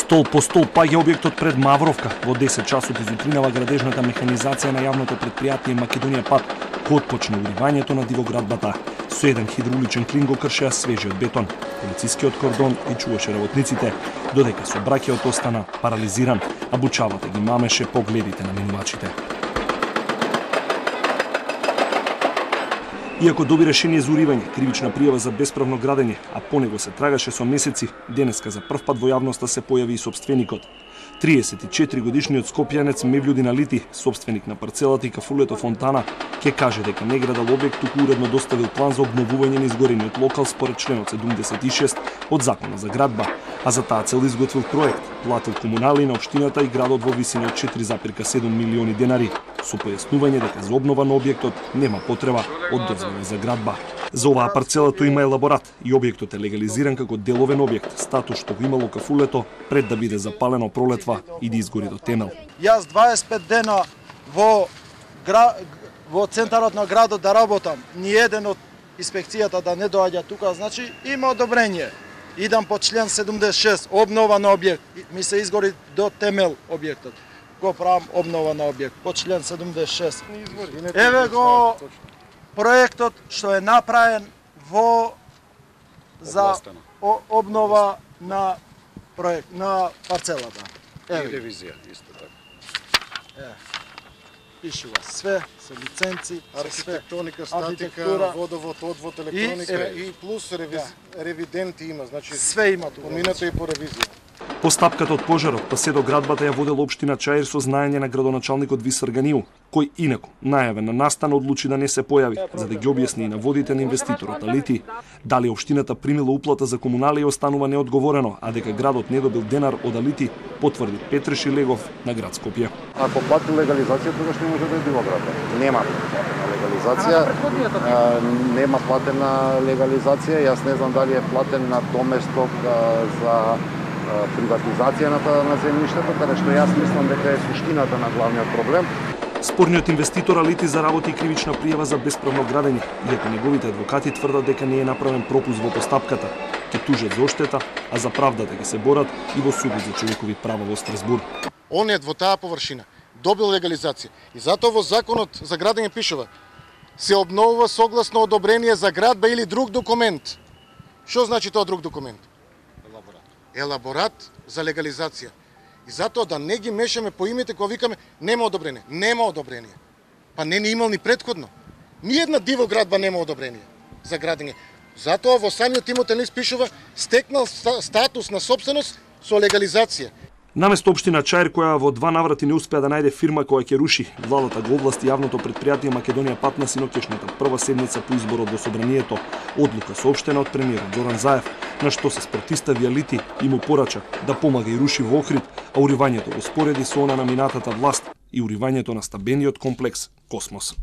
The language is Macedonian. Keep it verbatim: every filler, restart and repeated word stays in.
Стол по стол паѓа објектот пред Мавровка. Во десет часот изутринава градежната механизација на јавното предпријатие Македонија Пат, кој отпочна уривањето на дивоградбата. Со еден хидрауличен клин го кршеа свежиот бетон. Полицискиот кордон и чуваше работниците, додека сообраќајот остана парализиран, а бучавата ги мамеше погледите на минувачите. Иако доби решение за уривање, кривична пријава за бесправно градење, а по него се трагаше со месеци, денеска за прв пат во јавноста се појави и сопственикот. триесет и четири годишниот скопјанец Мевљудин Алити, сопственик на парцелата и кафулето Фонтана, ќе каже дека не градал објект, туку уредно доставил план за обновување на изгорениот локал според членот седумдесет и шест од Законот за градба, а за таа цел изготвил проект, платил комунали на општината и градот во висина од четири запирка седум милиони денари, со појаснување дека за обнова на објектот нема потреба од дозвола за градба. За оваа парцела тој има елаборат и објектот е легализиран како деловен објект, статус што го имало кафулето пред да биде запалено пролетва и да изгори до темел. Јас дваесет и пет дена во гра... во центарот на градот да работам, ни еден од инспекцијата да не доаѓа тука, значи има одобрение. Идам по член седумдесет и шест, обнова на објект, ми се изгори до темел објектот. Го правам обнова на објект по член седумдесет и шест. Еве го проектот што е направен во за обнова на проект на парцелата. Еве и ревизија исто така. Е. Пишува све, се лиценци, архитектоника, статика, водовод, одвод, електроника и, и плюс ревиз... да. ревиденти има, значи све има тука. Поминато и по ревизија. Постапката од пожарот па се до градбата ја водел општина Чаир со знаење на градоначалникот Висар Ганиу, кој инаку најавен на настан одлучи да не се појави, за да ги објасни и на водите на инвеститорот Алити дали општината примила уплата за комунали и останува неодговорено, а дека градот не добил денар од Алити, потврди Петреши Легов на град Скопје. Ако плати легализација, тогаш не може да е дивоградба. Нема легализација, а, нема платена легализација, јас не знам дали е платен на доместок а, за приватизација на, на земјиштето, каде што јас мислам дека е суштината на главниот проблем. Спорниот инвеститор Алити заработи кривична пријава за бесправно градење, иако неговите адвокати тврдат дека не е направен пропуск во постапката. Ќе тужат за оштета, а за правдата ќе се борат и во судот за човекови права во Страсбург. Онет во таа површина добил легализација и затоа во Законот за градење пишува се обновува согласно одобрение за градба или друг документ. Што значи тоа друг документ? Елаборат за легализација. И затоа да не ги мешаме по имите кога викаме нема одобрение. Нема одобрение. Па не ни имал ни претходно. Ни една дивоградба нема одобрение за градење. Затоа во самиот имотен лист пишува стекнал статус на собственост со легализација. Наместо општина Чаир, која во два наврати не успеа да најде фирма која ќе руши, владата го овласти јавното предпријатие Македонија Пат на синокешната прва седница по изборот во собранието, одлука соопштена од премиерот Зоран Заев, на што се спротистави Алити и му порача да помага и руши во Охрид, а уривањето го спореди со она на минатата власт и уривањето на стабениот комплекс Космос.